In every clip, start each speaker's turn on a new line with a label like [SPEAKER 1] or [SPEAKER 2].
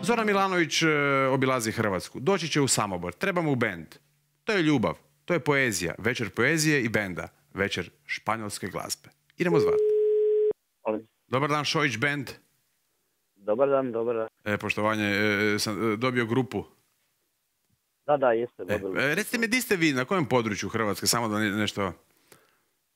[SPEAKER 1] Zoran Milanović obilazi Hrvatsku. Doći će u Samobor. Treba mu bend. To je ljubav. To je poezija. Večer poezije i benda. Večer španjolske glazbe. Idemo zvati. Dobar dan, Šojić bend.
[SPEAKER 2] Dobar dan, dobar dan.
[SPEAKER 1] Poštovanje, sam dobio grupu.
[SPEAKER 2] Da, jeste dobili.
[SPEAKER 1] Recite mi, di ste vi, na kojem području Hrvatske? Samo da nešto...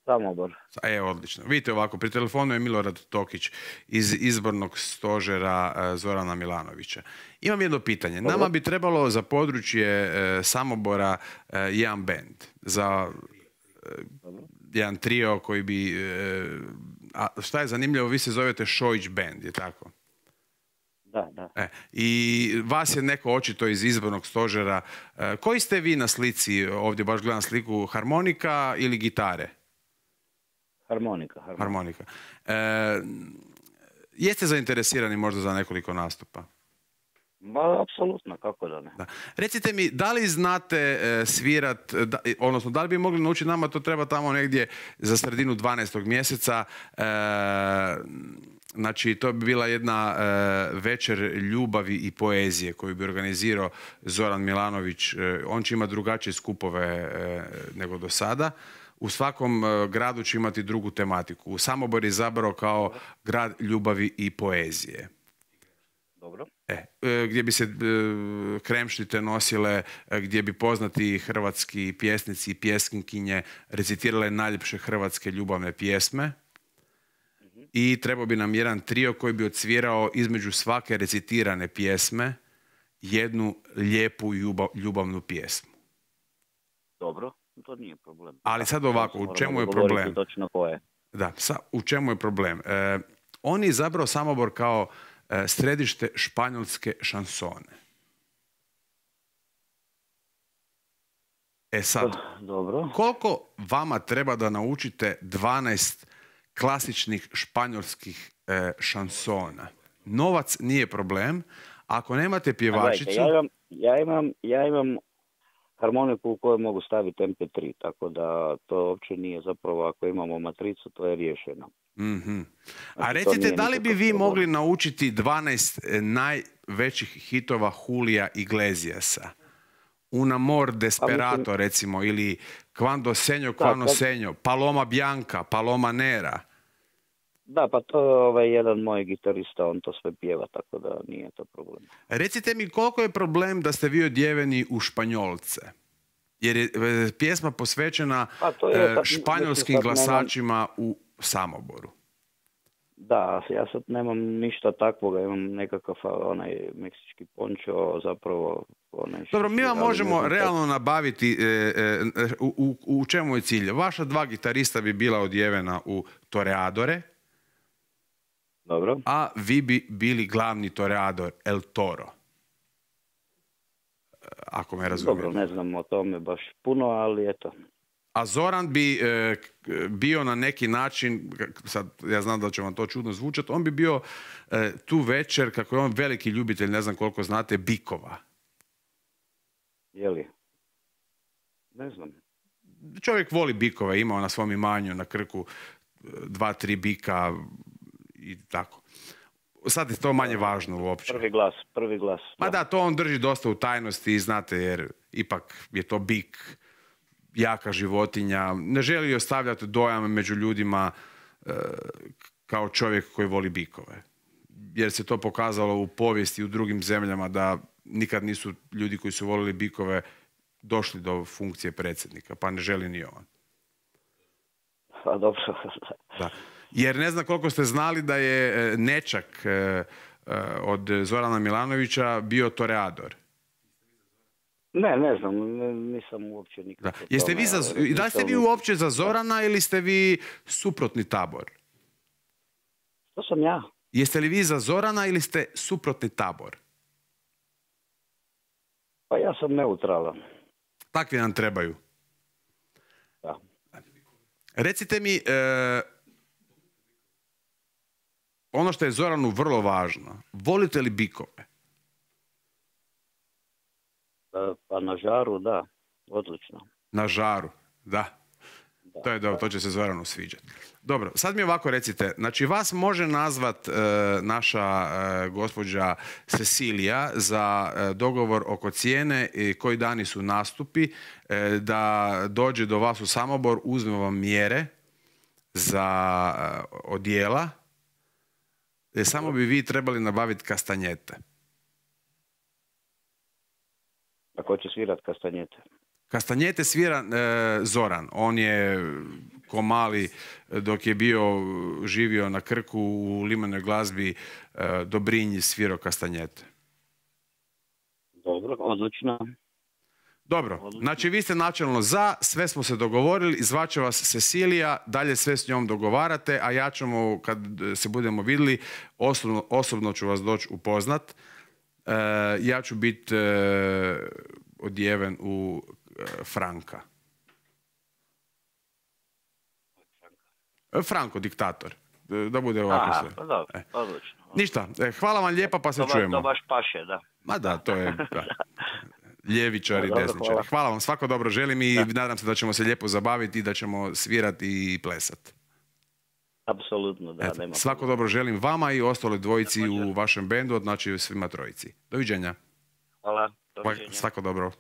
[SPEAKER 2] Samobor.
[SPEAKER 1] Odlično. Vidite ovako, pri telefonu je Milorad Tokić iz izbornog stožera Zorana Milanovića. Imam jedno pitanje. Nama bi trebalo za područje Samobora jedan bend. Za jedan trio koji bi... A šta je zanimljivo, vi se zovete Šojić bend, je tako?
[SPEAKER 2] Da.
[SPEAKER 1] I vas je neko očito iz izbornog stožera. Koji ste vi na slici? Ovdje baš gledam sliku, harmonika ili gitare? Harmonika. Jeste zainteresirani možda za nekoliko nastupa?
[SPEAKER 2] Apsolutno, kako da ne.
[SPEAKER 1] Da. Recite mi, da li znate svirat, odnosno da li bi mogli naučiti, nama to treba tamo negdje za sredinu 12. mjeseca, znači to bi bila jedna večer ljubavi i poezije koju bi organizirao Zoran Milanović. On će imati drugačije skupove nego do sada. U svakom gradu će imati drugu tematiku. Samobor je izabrao kao grad ljubavi i poezije.
[SPEAKER 2] Dobro.
[SPEAKER 1] Gdje bi se kremšnite nosile, gdje bi poznati hrvatski pjesnici i pjesnikinje recitirale najljepše hrvatske ljubavne pjesme. I trebao bi nam jedan trio koji bi odsvirao između svake recitirane pjesme jednu lijepu ljubavnu pjesmu.
[SPEAKER 2] Dobro. To nije problem.
[SPEAKER 1] Ali sad ovako, u čemu je problem? Da, u čemu je problem? On je izabrao Samobor kao središte španjolske šansone. Sad,
[SPEAKER 2] dobro.
[SPEAKER 1] Koliko vama treba da naučite 12 klasičnih španjolskih šansona? Novac nije problem. Ako nemate pjevačicu...
[SPEAKER 2] Ja imam harmoniku u kojoj mogu staviti MP3, tako da to uopće nije zapravo, ako imamo matricu, to je riješeno.
[SPEAKER 1] A recite, da li bi vi mogli naučiti 12 najvećih hitova Julija Iglesiasa? Un amor desperado, recimo, ili Quando senjo, Paloma Bianca, Paloma Nera.
[SPEAKER 2] Da, pa to je jedan moj gitarista, on to sve pjeva, tako da nije to problem.
[SPEAKER 1] Recite mi, koliko je problem da ste vi odjeveni u Španjolce? Jer je pjesma posvećena španjolskim glasačima u Samoboru.
[SPEAKER 2] Da, ja sad nemam ništa takvoga, imam nekakav meksički pončo, zapravo...
[SPEAKER 1] Dobro, mi vam možemo realno nabaviti u čemu je cilj. Vaša dva gitarista bi bila odjevena u toreadore.
[SPEAKER 2] Dobro.
[SPEAKER 1] A vi bi bili glavni toreador, El Toro. Ako me razumijete.
[SPEAKER 2] Dobro, ne znam o tome baš puno, ali eto.
[SPEAKER 1] A Zoran bi bio na neki način, sad ja znam da će vam to čudno zvučati, on bi bio tu večer, kako je on veliki ljubitelj, ne znam koliko znate, bikova.
[SPEAKER 2] Je li? Ne znam.
[SPEAKER 1] Čovjek voli bikove, imao na svom imanju na Krku 2-3 bika i tako. Sad je to manje važno uopće.
[SPEAKER 2] Prvi glas.
[SPEAKER 1] Ma da, to on drži dosta u tajnosti, znate, jer ipak je to bik, jaka životinja. Ne želi ostavljati dojam među ljudima kao čovjek koji voli bikove. Jer se to pokazalo u povijesti u drugim zemljama da nikad nisu ljudi koji su volili bikove došli do funkcije predsjednika, pa ne želi ni on.
[SPEAKER 2] Pa dobro.
[SPEAKER 1] Da. Jer ne znam koliko ste znali da je nećak od Zorana Milanovića bio toreador.
[SPEAKER 2] Ne znam, nisam uopće nikad.
[SPEAKER 1] Da li ste vi uopće za Zorana ili ste vi suprotni tabor?
[SPEAKER 2] To sam ja.
[SPEAKER 1] Jeste li vi za Zorana ili ste suprotni tabor?
[SPEAKER 2] Pa ja sam neutralan.
[SPEAKER 1] Takvi nam trebaju.
[SPEAKER 2] Da.
[SPEAKER 1] Recite mi, ono što je Zoranu vrlo važno, volite li bikove?
[SPEAKER 2] Pa na žaru, da, odlično.
[SPEAKER 1] Na žaru, da.
[SPEAKER 2] Da.
[SPEAKER 1] To je dobro, to će se Zoranu sviđati. Dobro, sad mi ovako recite, znači vas može nazvat naša gospođa Cecilija za dogovor oko cijene i koji dani su nastupi, da dođe do vas u Samobor, uzme vam mjere za odijela, samo bi vi trebali nabaviti kastanjete.
[SPEAKER 2] A ko će svirat kastanjete?
[SPEAKER 1] Kastanjete svira Zoran, on je ko mali dok je živio na Krku u limenoj glazbi Dobrinji svirao kastanjete.
[SPEAKER 2] Dobro, odlično.
[SPEAKER 1] Dobro, znači vi ste načelno za, sve smo se dogovorili, zvaće vas Cecilija, dalje sve s njom dogovarate, a ja ćemo, kad se budemo vidjeli, osobno ću vas doći upoznat. Ja ću biti odjeven u Franka. Franko, diktator. Da bude ovako sve.
[SPEAKER 2] Pa dobro, odlično.
[SPEAKER 1] Ništa, hvala vam lijepa pa se čujemo.
[SPEAKER 2] To baš paše, da.
[SPEAKER 1] Ma da, to je ljevičar i desničar. Hvala vam, svako dobro želim i nadam se da ćemo se lijepo zabaviti i da ćemo svirati i plesati.
[SPEAKER 2] Apsolutno, da.
[SPEAKER 1] Eto, svako dobro želim vama i ostale dvojici u vašem bendu, znači svima trojici. Doviđenja.
[SPEAKER 2] Hvala, doviđenja.
[SPEAKER 1] Svako dobro.